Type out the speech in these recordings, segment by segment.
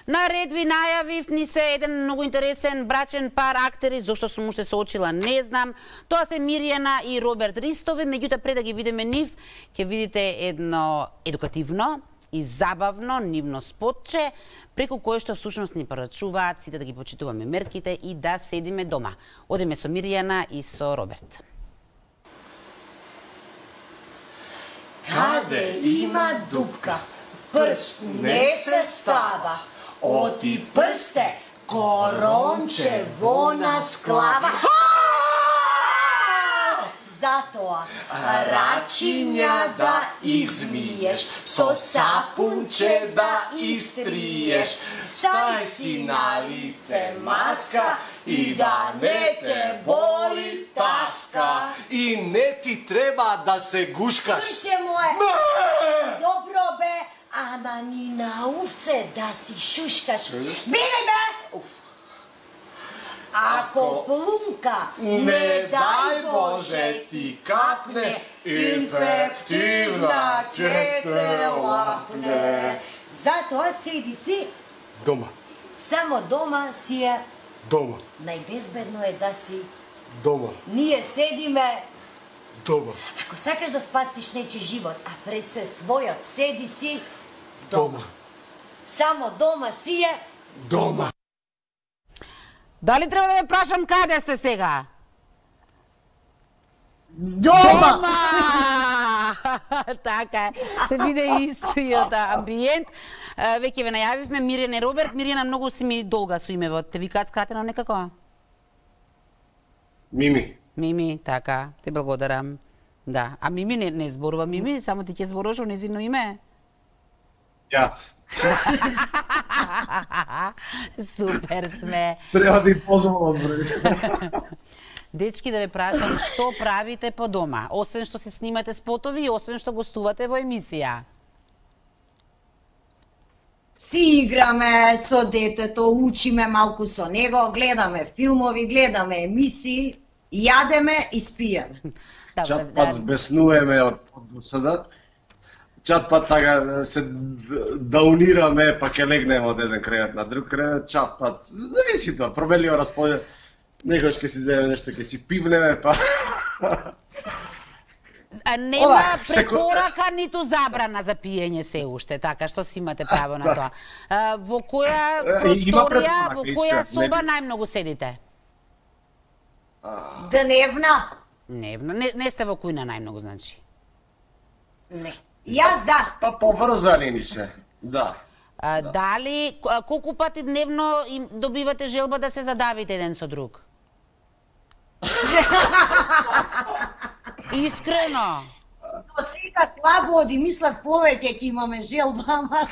На ред ви најавив ни се еден многу интересен брачен пар актери, зошто сум уште се очила не знам. Тоа се Мирјана и Роберт Ристови, меѓутоа пред да ги видиме нив, ќе видите едно едукативно и забавно нивно спотче, преку кое што всушност ни порачуваат сите да ги почитуваме мерките и да седиме дома. Одиме со Мирјана и со Роберт. Каде има дупка, прст не се става, оти прсте, коронче во нас клава. Затоа рачиња да измиеш, со сапунче да истриеш, стај си на лице маска и да не те боли таска. И не ти треба да се гушкаш. Срце мое! Добро бе, ама ни на овце да си шушкаш. Бири бе! Ако плунка, не дај Боже ти капне, инфективна ќе те лапне. Затоа седи си Дома. само дома си е. Дома. Најбезбедно е да си. Дома. Ние седиме. Дома. Ако сакаш да спасиш нечи живот, а пред се својот, седи си дома. Само дома си е. Дома. Дали треба да ве прашам каде сте сега? Дома! Така е. Се биде истиот амбиент. Веќе ве најавивме Мирјана и Роберт. Мирјана, многу си ми долга со името. Те викаат скратено некако? Мими. Мими, така. Те благодарам. Да. А Мими не зборува Мими, само ти ќе зборуваш о незино име. Јас. Супер сме. Треба да им позволам, бре. Дечки, да ве прашам, што правите по дома? Освен што се снимате спотови и освен што гостувате во емисија? Си играме со детето, учиме малку со него, гледаме филмови, гледаме емисии, јадеме и спиеме. Чат пат збеснуваме од досада. Чат пат така се даунираме, па ќе легнеме од еден кревет на друг кревет, чат пат, зависи тоа, променливо расположение. Некојаш ќе си земе нешто, ќе си пивнеме, па... Нема препорака ниту забрана за пиење се уште, така што си имате право на тоа. Во која просторија, во која соба најмногу седите? Дневна? Дневна. Не сте во кујна најмногу, значи? Не. Јас да. Па поврзани ни се, да. Дали, колку пати дневно им добивате желба да се задавите еден со друг? Искрено. До сега слабо оди, мислев повеќе ќе имаме желба, ама...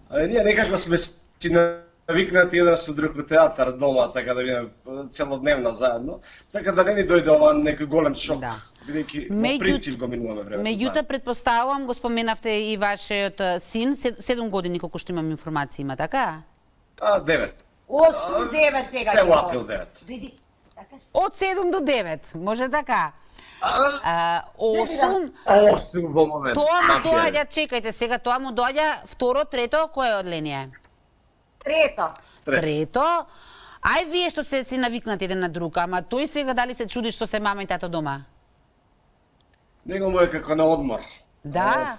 Ние некако сме си навикнати еден со друг во театар дома, така да бидеме целодневно заедно, така да не ни дојде ова некој голем шок, бидејќи во принцип го минуваме времето. Меѓутоа, предпоставувам, го споменавте и вашиот син, 7 години, колку што имам информација има, така? 9. 8-9 сега. Се во април 9. Од 7 до 9, може така? 8 во момент. Тоа му доаѓа, чекајте сега, тоа му доаѓа второ, трето, кој одление? Трето. Ај вие што се си навикнати еден на друг, ама тој сега дали се чуди што се мама и тато дома? Него му е како на одмор. Да.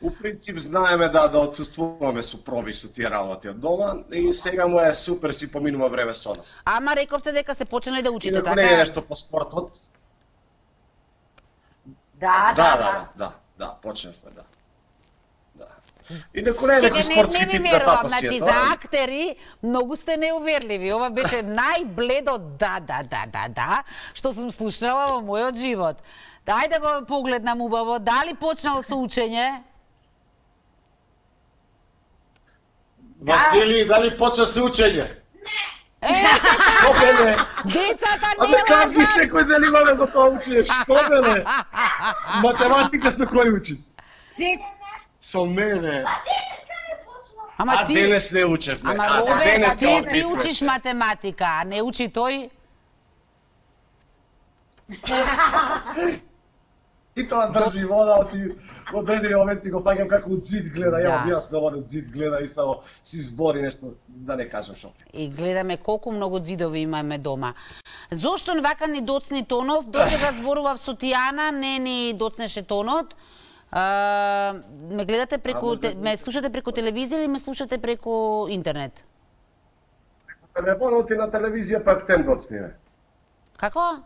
У принцип знаеме да отсуствуваме со проби со тие работи од дома и сега му е супер си поминува време со нас. Ама рековте дека сте почнали да учите, така? Не е нешто по спортот. Да, почнавме, да. И некој не е некој спортски тип да тато си е. Значи, за актери многу сте неуверливи. Ова беше најбледо да, што сум слушнала во мојот живот. Дај да го погледнам убаво. Дали почнал со учење? Васили, дали почна со учење? Не! Децата не лажат! Как ги секој ден имаме за тоа учење? Што мене? Математика со кој учи? Со мене. А денес не учев. Ама Роберт, ти учиш математика, а не учи тој? И тоа држи вода, оти одредени моменти го паѓам како од зид гледа, ја објаснувам од зид гледа и само си збори нешто, да не кажам шо. И гледаме колку многу зидови имаме дома. Зошто вака ни доцни тонов? Досега зборував со Тијана, не ни доцнеше тонот. Ме гледате преку, ме слушате преку телевизија или ме слушате преку интернет? Преку телефонот и на телевизија па птен доцниме. Како?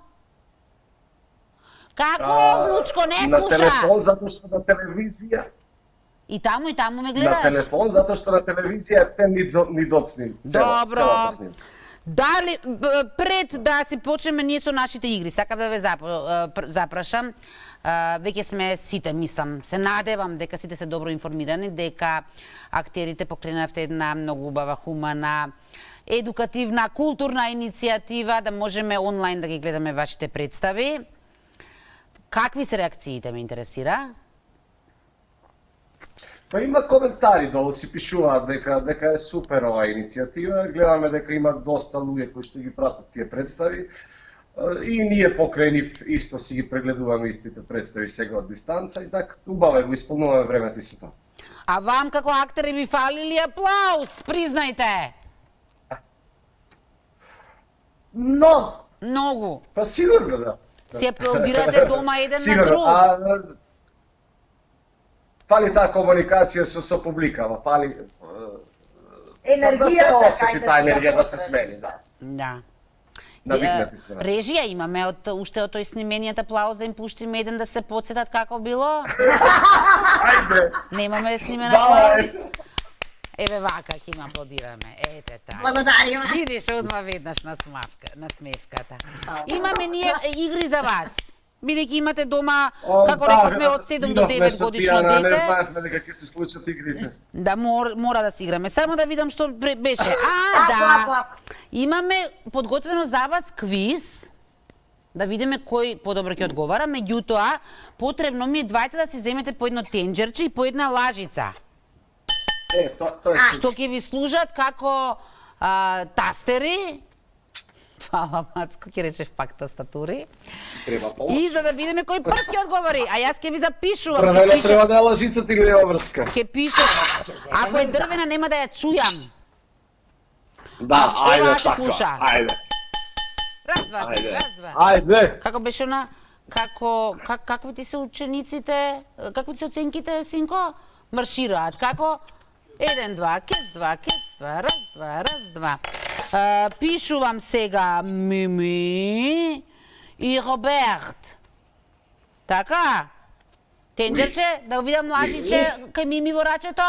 Како, внучко, не слуша? На телефон, затоа што на телевизија... И таму ме гледаш? На телефон, затоа што на телевизија птен ни доцни. Добро. Дали, пред да си почнеме ние со нашите игри, сакам да ве запрашам, веќе сме сите, мислам, се надевам дека сите се добро информирани, дека актерите покренавте една многу убава, хумана, едукативна, културна иницијатива, да можеме онлайн да ги гледаме вашите представи. Какви се реакциите, ме интересира? Па има коментари долу, си пишуваат дека е супер оваа иницијатива, гледаме дека има доста луѓе кои што ги пратат тие представи и ние покрај нив исто си ги прегледуваме истите представи сега од дистанца и така убаво го исполнуваме времето и се тоа. А вам како актери ви фалили аплауз, признајте! Многу. Па сигурно да. Се аплаудирате дома еден на друг. Фали таа комуникација со публикава, фали енергијата, да се осети таа енергија да се смени, да. Да. Навикнати сме. Режија имаме уште од тој снимениот аплауз да им пуштиме еден да се потсетат како било? Ајде. Немаме снимен аплауз. Еве вака ќе им аплодираме. Ете така. Благодариме. Видиш одма веднаш на смевката. Имаме ние игри за вас. Бидејќи имате дома, како рековме, од 7 до 9 годишно дете. Не знаевме дека ќе се случат игрите. Да, мора да си играме. Само да видам што беше. Да. Имаме подготвено за вас квиз. Да видиме кој подобро ќе одговара. Меѓутоа, потребно ми е двајца да си земете по едно тенџерче и по една лажица. Тоа е што ќе ви служат како тастери. Фала, Мацко, ќе речев пак тастатури. Треба помош. И за да видиме кој прв ќе одговори, а јас ќе ви запишувам. Правеле треба да е лажицата или е врска. Ќе пишам. Ако е дрвена нема да ја чујам. Да, ајде така. Ајде. Раз, два. Ајде. Како беше она? Какви ти се учениците? Какви ти се оценките, синко? Маршираат. Како? 1, 2, кец 2, раз, два. Пишувам сега Мими и Роберт. Така? Тенџерче, да видам лажиче кај Мими во рачето?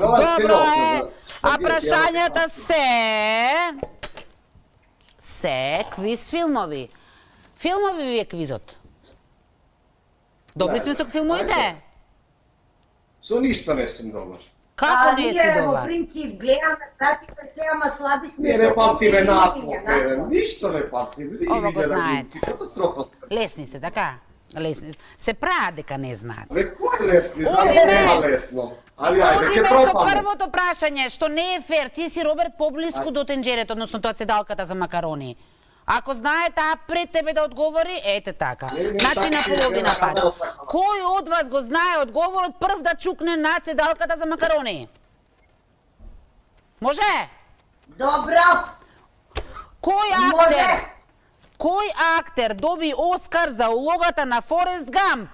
Добро е. А прашањата се квиз филмови. Филмови ви е квизот. Добри сме со филмовите? Со ништо не сум добар. Како не си Ние во добар? принцип гледаме, пратиме се, ама слаби сме. Не памтиме наслов, ништо не памтиме. Ова го знаете. Катастрофа. Лесни се, така? Лесни. Се прават дека не знаат. Кој лесни? Знаат нема лесно. Али ајде, ќе Одиме со пробаме. првото прашање, што не е фер. Ти си, Роберт, поблиску до тенџерето, односно тоа седалката за макарони. Ако знае таа пред тебе да одговори, ете така. Значи на половина пат. Кој од вас го знае одговорот прв да чукне на седалката за макарони? Може? Добро. Кој актер доби Оскар за улогата на Форест Гамп?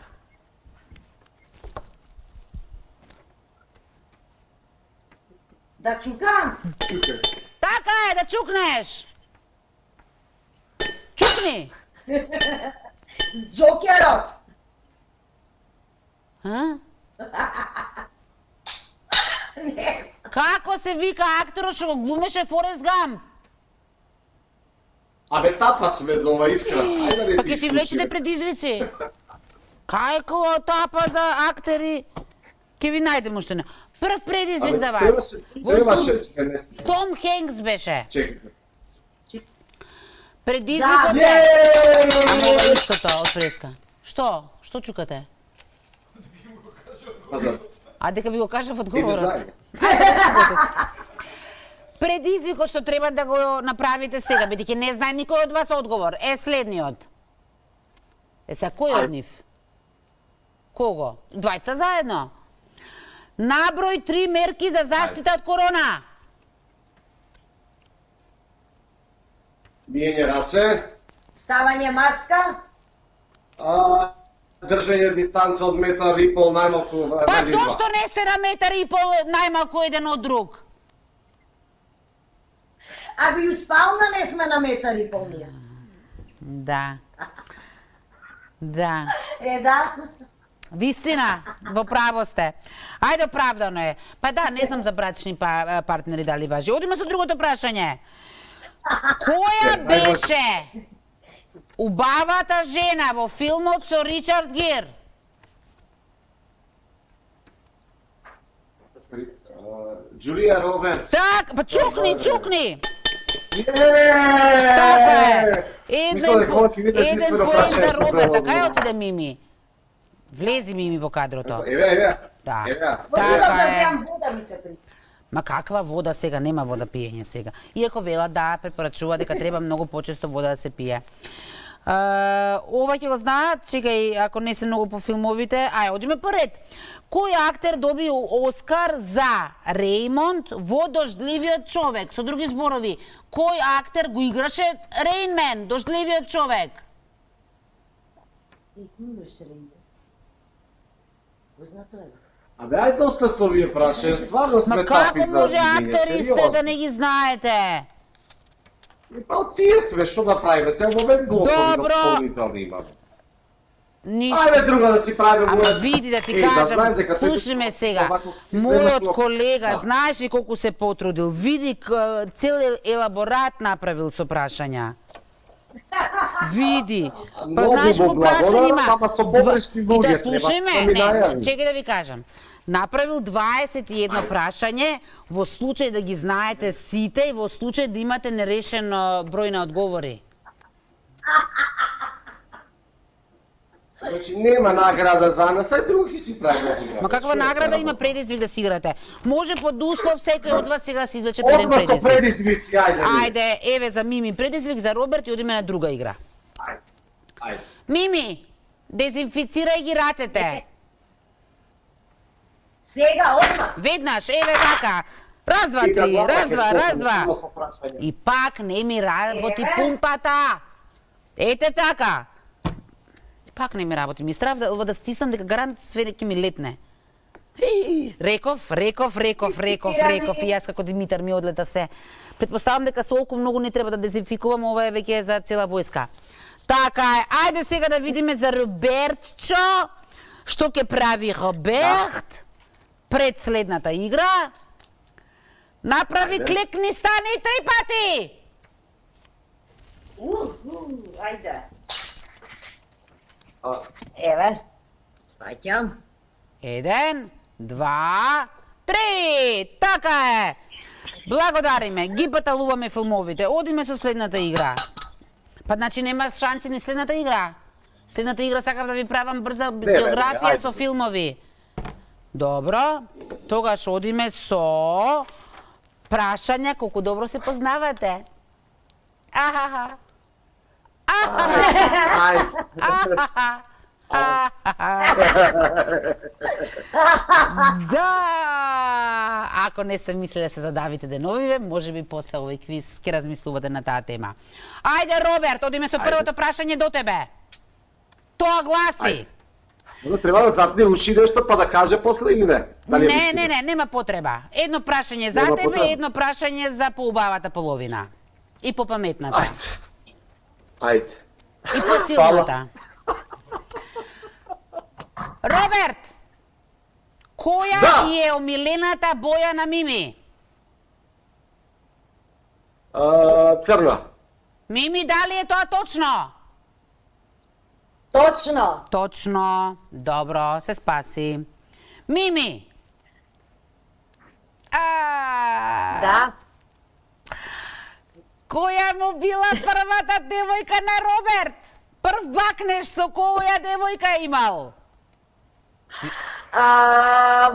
Да чукам. Така е, да чукнеш. Чукни. Джокерот. Како се вика акторот што го глумеше Форест Гамп? Абе, тапа сме за ова искра. Ајде да не Па ти ќе си влечете предизвици. Кајко тапа за актери? Ќе ви најдем уште не. Прв предизвик за вас. Том Хенкс беше. Чекайте. Предизвикот е... Ама ова истото од преска. Што? Што чукате? А дека ви го кажав одговорот. Предизвикот што треба да го направите сега, бидејќи не знае никој од вас одговор, е следниот. Сега кој од нив? Кого? Двајца заедно. Наброј 3 мерки за заштита од корона. Биење раце. Ставање маска. Држање дистанца од метар и пол најмалку. Па зошто не сте на метар и пол најмалку еден од друг? Аби успална не сме на метар и пол ние. Да. Да. Да. Вистина, во право сте. Ајде, оправдано е. Па да, не знам за брачни партнери дали важи. Одиме со другото прашање. Која беше убавата жена во филмот со Ричард Гир? Джулија Робертс. Так, па чукни. Еден поен за Роберт, кај отиде Мими? Влези Мими во кадрото. Еве. Да. Така е. Вода ми се припа. Ма каква вода сега? Нема вода пиење сега. Иако вела да, препорачува дека треба многу почесто вода да се пие. Ова ќе го знаат, чекај, ако не се многу по филмовите, одиме поред. Кој актер доби Оскар за Реймонд во Дождливиот човек? Со други зборови, кој актер го играше Рейн Мен, Дождливиот човек? Познато е. Абе, ајде оста со овие прашања, стварно сме тапи за Како може видење, актери сте да не ги знаете? Па од тие све, што да правиме? Сега во момент блокови дополнителни имаме. Ништо. Ајде друга да си правиме. Ама види да ти кажам, слушаме сега. Мојот колега, знаеш ли колку се потрудил? Види цел елаборат направил со прашања. Види. Па знаеш колку прашања има? Ама со погрешни луѓе да слушаме, не, чекај да ви кажам. Направил 21 прашање во случај да ги знаете сите и во случај да имате нерешен број на одговори. Значи нема награда за нас, ај други си правиме. Ма каква награда има предизвик да си играте? Може под услов секој од вас сега да се извлече еден предизвик. Одма со предизвици, ајде. Ајде, еве за Мими предизвик, за Роберт и одиме на друга игра. Ајде. Мими, дезинфицирај ги рацете. Сега, одма. Веднаш, еве така. Раз, два, три, раз, два. И пак не ми работи пумпата. Ете така. Пак не ми работи. Ми страв да стиснам дека гарант све ќе ми летне. Реков. И јас како Димитар ми одлета се. Предпоставам дека солку многу не треба да дезинфикувам, ова е веќе за цела војска. Така е. Ајде сега да видиме за Робертчо. Што ќе прави Роберт пред следната игра? Направи клекни, стани 3 пати. Ајде. Еве. Паќам. 1, 2, 3. Така е. Благодариме. Ги баталуваме филмовите. Одиме со следната игра. Па значи нема шанси ни следната игра. Следната игра сакав да ви правам брза географија со филмови. Добро. Тогаш одиме со прашања колку добро се познавате. Ахаха. Да! Ако не сте мислили да се задавите деновиве, може би после овој квиз ќе размислувате на таа тема. Ајде, Роберт, одиме со првото прашање до тебе. Тоа гласи. Треба да затне уши нешто па да каже после или не? Не, нема потреба. Едно прашање за тебе, едно прашање за поубавата половина. И по паметната. Ајде. И по силната. Роберт, која е омилената боја на Мими? Црна. Мими, дали е тоа точно? Точно. Точно. Добро, се спаси. Мими. Да. Која му била првата девојка на Роберт? Прв бакнеш со која девојка имал?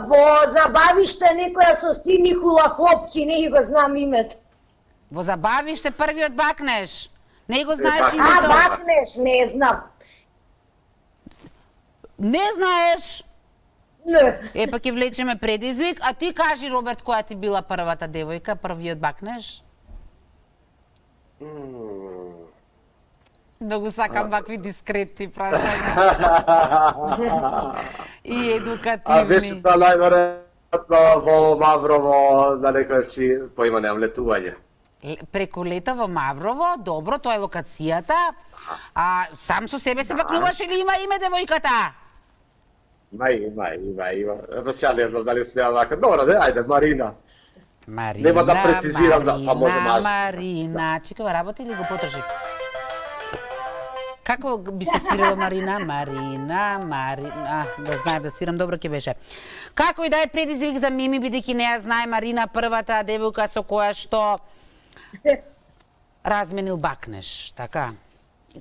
Во забавиште некоја со сини хулахопчи, не го знам името. Во забавиште првиот бакнеш? Не го знаеш името? Бакнеш, не знам. Не знаеш? Не. Па ќе влечеме предизвик, а ти кажи, Роберт, која ти била првата девојка, првиот бакнеш? Многу сакам вакви дискретни прашања. И едукативни. Беше та најверојатно во Маврово, да некој си поима немам летување. Преку лета во Маврово, добро, тоа е локацијата. А сам со себе се бакнуваш или има име девојката? Има. Ево сега не знам дали смеам вака. Добро, ајде, Марина. Марина, Нема да прецизирам, па може мажно. Марина, чекава, работи или го потржи? Како би се свирила Марина? Марина, да знаев да свирам, добро ќе беше. Како и да е предизвик за Мими, бидејќи не ја знае Марина, првата девојка со која што разменил бакнеш, така?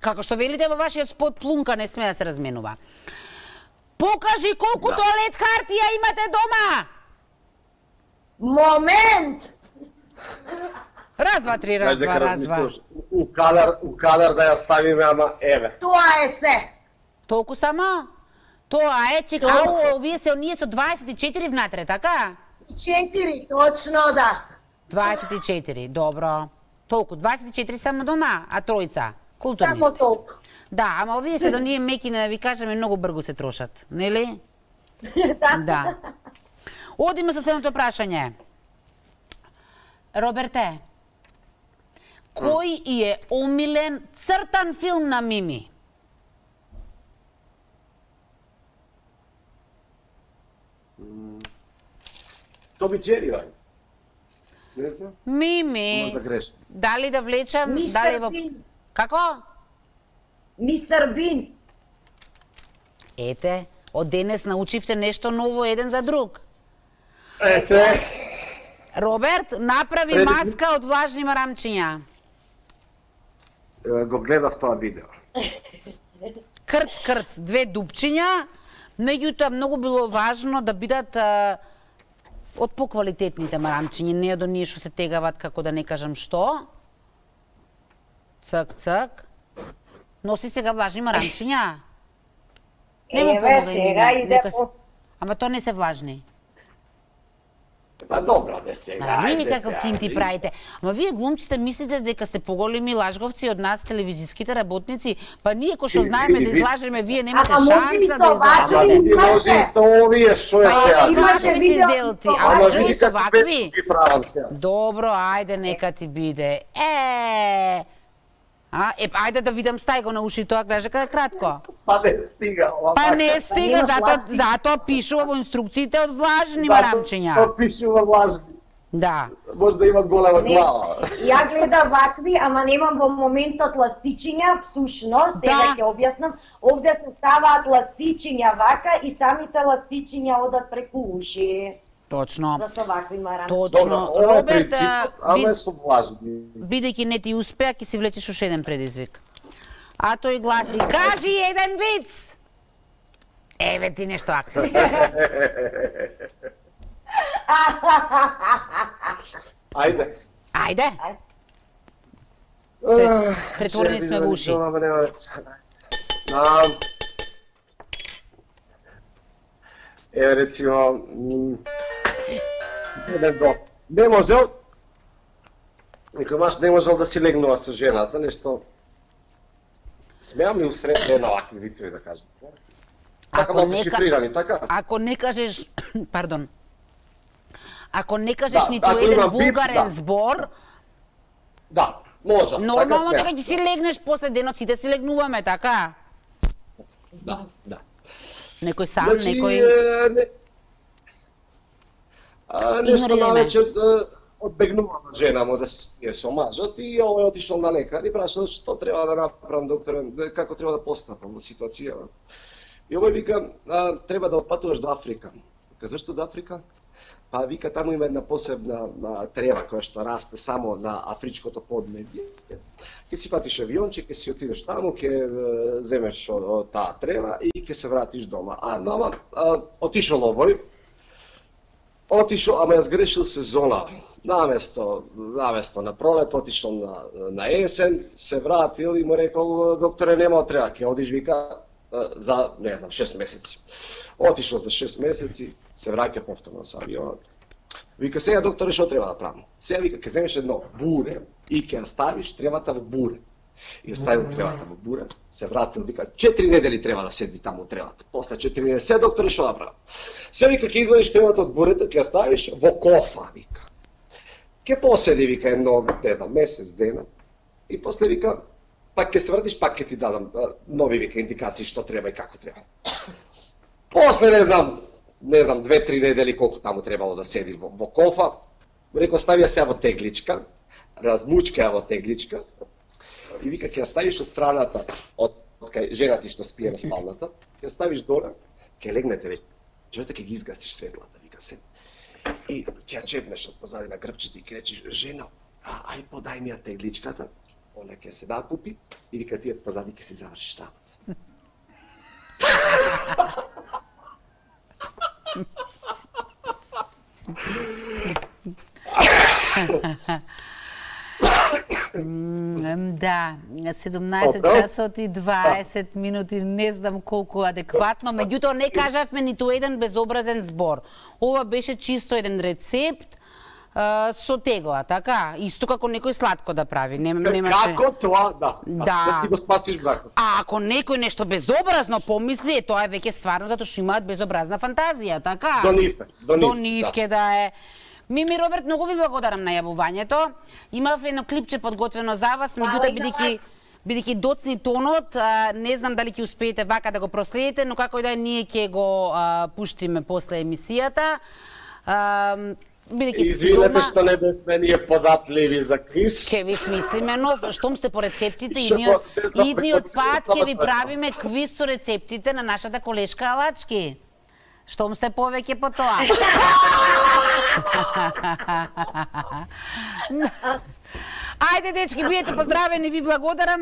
Како што велите во вашиот спот, плунка не сме да се разменува. Покажи колку тоалет хартија имате дома! Момент! Раз, два, три, раз, два. У кадар да ја ставиме, ама еве. Тоа е се. Толку само? Тоа е, чека, овие се оние со 24 внатре, така? 4, точно да. 24, добро. Толку, 24 само дома, а тројца? Културни Само сте. толку. Да, ама овие се до ние мекини, да ви кажеме, многу бргу се трошат, нели? Да. Одиме со следното прашање. Роберте, кој е омилен цртан филм на Мими? Тоби Джери, бај. Не знам. Мими. Може да грешам. Дали да влечам, дали Мистер во... Бин. Како? Мистер Бин. Ете, од денес научивте нешто ново еден за друг. Ете. Роберт, направи маска од влажни марамчиња. Го гледав тоа видео. Крц, две дупчиња, меѓутоа многу било важно да бидат од поквалитетните марамчиња, не од оние што се тегават, како да не кажам што. Цак. Носи сега влажни марамчиња. Еве, сега иде по... Ама тоа не се влажни. Па добро, не сега. Види каков фин ти правите. Ама вие глумците мислите дека сте поголеми лажговци од нас, телевизиските работници, па ние кој што знаеме да излажеме, вие немате шанса да излажете. Може и со овие, шо е сега? Имаше видео. А може и со вакви? Правам сега. Добро, ајде, нека ти биде. Ајде да видам, стај го на уши тоа, кажа каде кратко. Па не стига. Па не стига, затоа пишува во инструкциите од влажни марамчиња. Затоа пишува влажни. Да. Може да има голема глава. Ја гледам вакви, ама немам во моментот ластичиња, всушност, еве ќе објаснам, овде се ставаат ластичиња вака и самите ластичиња одат преку уши. Точно. За со вакви марамчиња. Точно. Ова е Роберт, принципот, ама е со влажни. бидејќи не ти успеа, ќе си влечеш уште еден предизвик. А тој гласи, кажи еден виц! Еве ти нешто активно. Ајде. Претворени сме во уши. Еве рецимо не можел некој маж не можел да си легнува со жената, нешто смеам ли усред на овакви вицеви да кажам. Така малку шифрирани, така? Ако не кажеш, пардон, ако не кажеш ниту еден вулгарен збор, да, може. нормално дека ќе си легнеш после денот, сите си легнуваме, така? Да. Некој сам, некој... Нешто навечер одбегнувам жена да се спие со мажот и овој отишол на лекар и прашал што треба да направам, докторе, како треба да постапам во ситуацијава. И овој вика, треба да отпатуваш до Африка. Вика, зашто до Африка? Па вика, таму има една посебна трева која што расте само на афричкото поднебје. Ке си фатиш авионче, ке си отидеш таму, ке земеш таа трева и ке се вратиш дома. Ама отишол овој, ама ја сгрешил сезона. Наместо на пролет, отишол на есен, се вратил и му рекол, докторе, нема треба, ке одиш, вика, за, не знам, 6 месеци. Отишол за 6 месеци, се враќа повторно со авионот. Вика, сега докторе, што треба да правам? Сега вика, ќе земеш едно буре и ќе ја ставиш тревата во буре. И ја ставил тревата во буре, се вратил, вика, 4 недели треба да седи таму тревата. После 4 недели, сега докторе, што да правам? Сега вика, ќе извадиш тревата од бурето, ќе ја ставиш во кофа, вика. Ќе поседи, вика, едно, не знам, месец, дена. И после вика, пак ќе се вратиш, пак ќе ти дадам нови, вика, индикации што треба и како треба. После, не знам, 2-3 недели колку таму требало да седи во кофа, рекол, стави ја сега во тегличка, размучка ја во тегличка, и вика, ќе ја ставиш од страната, од кај жената што спие на спалната, ќе ја ставиш доле, ќе легнете вечерта, ќе ги изгасиш светлата, вика се. И ќе ја чепнеш од позади на грбчето и ќе речеш, жено, ај подај ми ја тегличката, она ќе се накупи, и вика, ти од позади ќе си завршиш работа. Да, 17 часот и 20 минути, не знам колку адекватно, меѓутоа не кажавме ниту еден безобразен збор. Ова беше чисто еден рецепт со тегла, така? Исто како некој сладко да прави. Немаше... Како тоа, да си го спасиш бракот. А ако некој нешто безобразно помисли, тоа е веќе стварно затоа што имаат безобразна фантазија, така? До нивке да е. Мими Роберт, многу ви благодарам на јавувањето. Имав едно клипче подготвено за вас, меѓутоа бидејќи доцни тонот, не знам дали ќе успеете вака да го проследите, но како и да е, ние ќе го пуштиме после емисијата. Извинете што не бевме ние податливи за квиз. Ке ви смислиме нов, штом сте по рецептите, идниот пат ќе ви правиме квиз со рецептите на нашата колешка Алачки. Штом сте повеќе по тоа. Ајде, дечки, биете поздравени, ви благодарам.